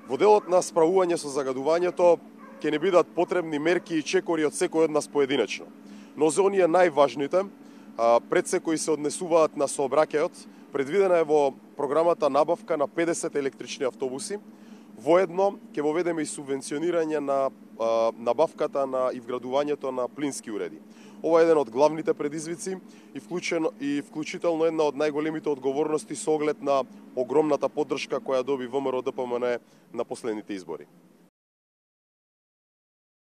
Во делот на справување со загадувањето ќе не бидат потребни мерки и чекори од секој од нас поединечно. Но за оние најважните, пред се кои се однесуваат на сообраќајот, предвидена е во програмата набавка на 50 електрични автобуси. Воедно ќе воведеме и субвенционирање на набавката и вградувањето на плински уреди. Ова е еден од главните предизвици и вклучително една од најголемите одговорности со оглед на огромната поддршка која доби ВМРО ДПМН на последните избори.